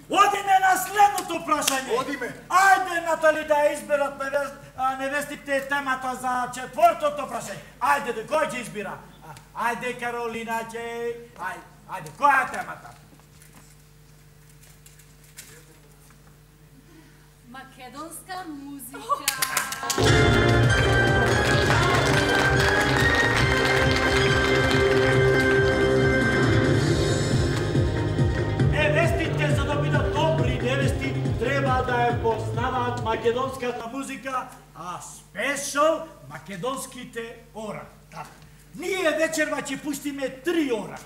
Одиме на следното прашање. Одиме. Ајде, Натали, да ја изберат невестите темата за четвртото прашање. Ајде, кој ќе избира? Ајде, Каролина ќе... Ајде, која е темата? Македонска музика. Невестите, за да бидат добри невести, треба да ја познаваат македонската музика, а спешал македонските ора. Така. Ние вечерва ќе пуштиме 3 ора.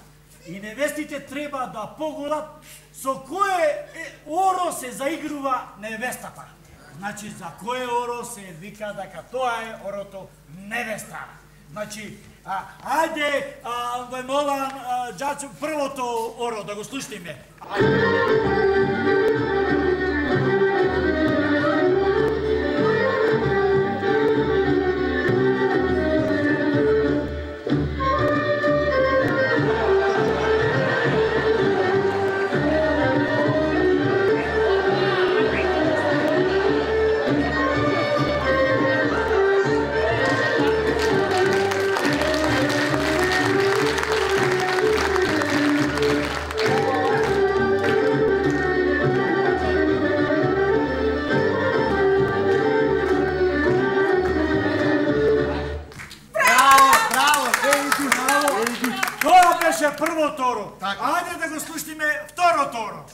И невестите треба да поголат со кое оро се заигрува невестата. Значи, за кое оро се вика дека тоа е орото невеста. Значи, ајде, ве молам, џачо, првото оро да го слушнеме. Првото оро. Ајде да го слушнеме второто оро.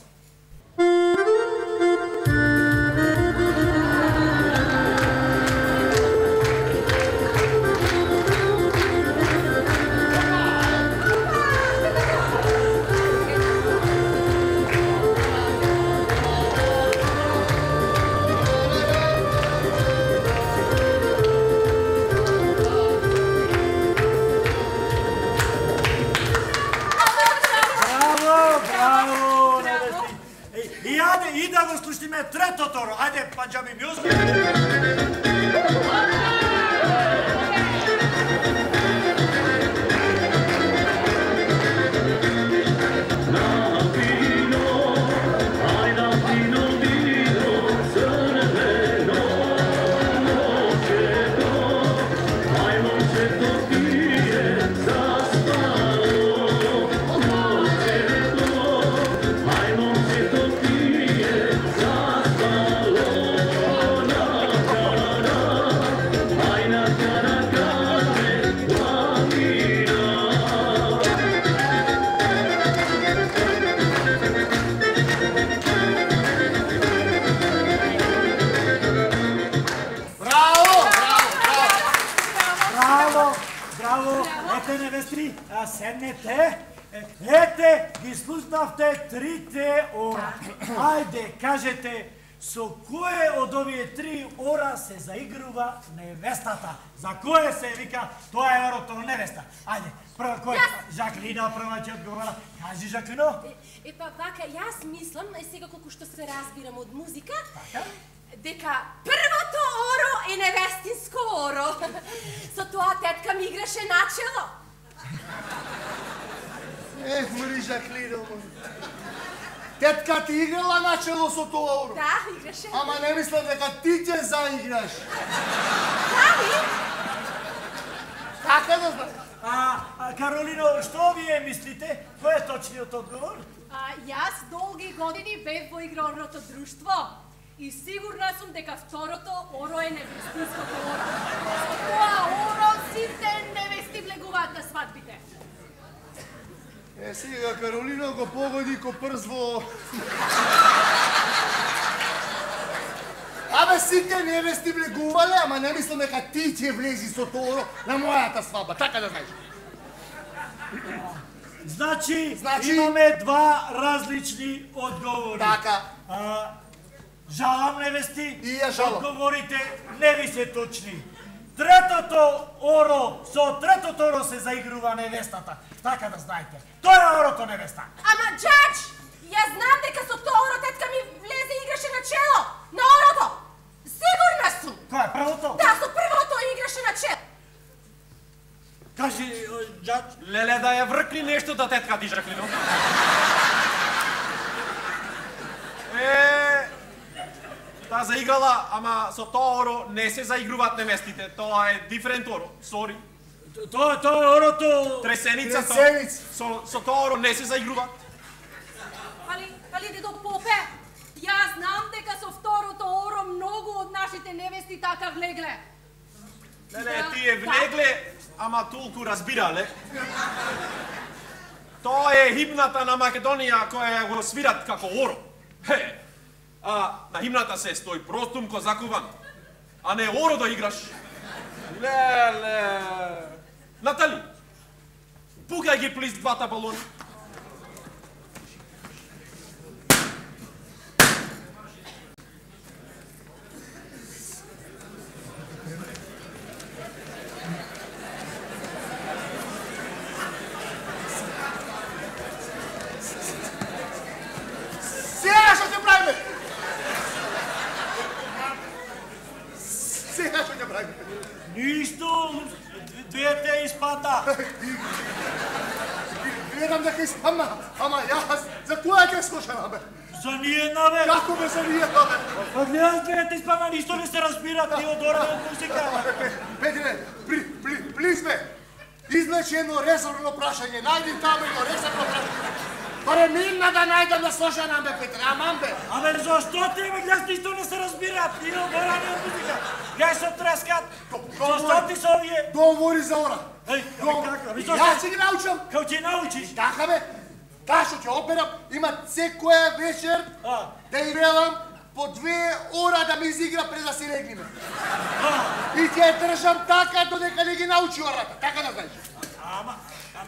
И да го слушнеме третото оро. Ајде, Панџаби мјузик. Седнете, ете, ги слушнавте 3 ора. Ајде, кажете, со кое од овие 3 ора се заигрува невестата? За кое се вика, тоа е орото невеста? Ајде, прва кој? Жаклина прва ќе одговора. Кажи, Жаклино. Епа, вака, јас мислам, сега колку што се разбирам од музика, дека првото оро е невестинско оро. Со тоа тетка ми играше начело. Мори, Жаклино, тетка ти играла начело со тоа оро? Да, играше. Ама не мислам дека ти ќе заиграш. Дали? Така да знаеш. Каролино, што вие мислите? Кој е точниот одговор? Јас долги години бев во игрорното друштво и сигурна сум дека второто оро е невестинското оро. Со тоа оро сите невести влегуваат на свадбите. Сега Каролино го погоди ко прс во... Абе, сите невести влегувале, ама не мислам дека ти ќе влези со тоа оро на мојата свадба, така да знаеш. Значи, имаме 2 различни одговори. Така. Жалам, невести. И ја жалам. Одговорите не ви се точни. Третото оро, со третото оро се заигрува невестата. Така да знаете. Тоа е орото невеста. Ама, џач, јас знам дека со тоа оро тетка ми влезе и играше на чело, на орото. Сигурна сум. Кој е првото? Да, со првото играше на чело. Кажи, џач. Леле, да ја вркни нешто да тетка ти, Жаклино. Таа заиграла, ама со тоа оро не се заигруваат невестите. Тоа е диферент оро. Сори. Тоа е орото... Тресеница. Со тоа оро не се заигруваат. Али дедо Попе, јас знам дека со второто оро многу од нашите невести така влегле. Не, тие влегле, ама толку разбирале. Тоа е химната на Македонија која го свират како оро. А на химната се стои простум ко закуван, а не оро да играш. Леле. Натали, пукај ги плиз двата балони. Ништо, двете испада. Гледам дека испадна, ама јас за која ќе слушам, бе? За ниједна, бе. Како бе за ниједна, бе? Па гледам двете испадна, ништо не се разбира, ти одораме од музика. Петре, плиз бе, излечи едно резервно прашање, најди таму едно резервно прашање. Барем имна да најдам да слушам, бе, Петре, аман бе. Абе, зашто ти, бе, гледаш, ништо не се разбира, ти одораме од музика. Гледај се трескат, зашто ти се овие? Говори за ора. Еј, како, бе, Јас ќе ги научам. Како ќе научиш? Така бе, таа што ќе операм, има секоја вечер да играм по 2 ора да ми изигра пред да си легнеме. И ќе ја држам така додека не ги научи ората, така да знаеш.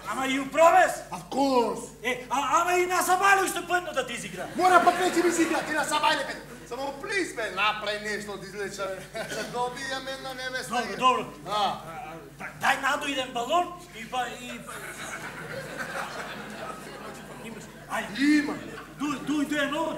Ама и упровес? Of course. Ама и на Сабајле уште пътно да ти изигра. Мора пак не ќе ми изигра, ти на Сабајле бе. Само плиз бе, направи нешто да излечаме. Да добијаме една невеста. Добро. Дај надо иден балон и Има. Дуј едно.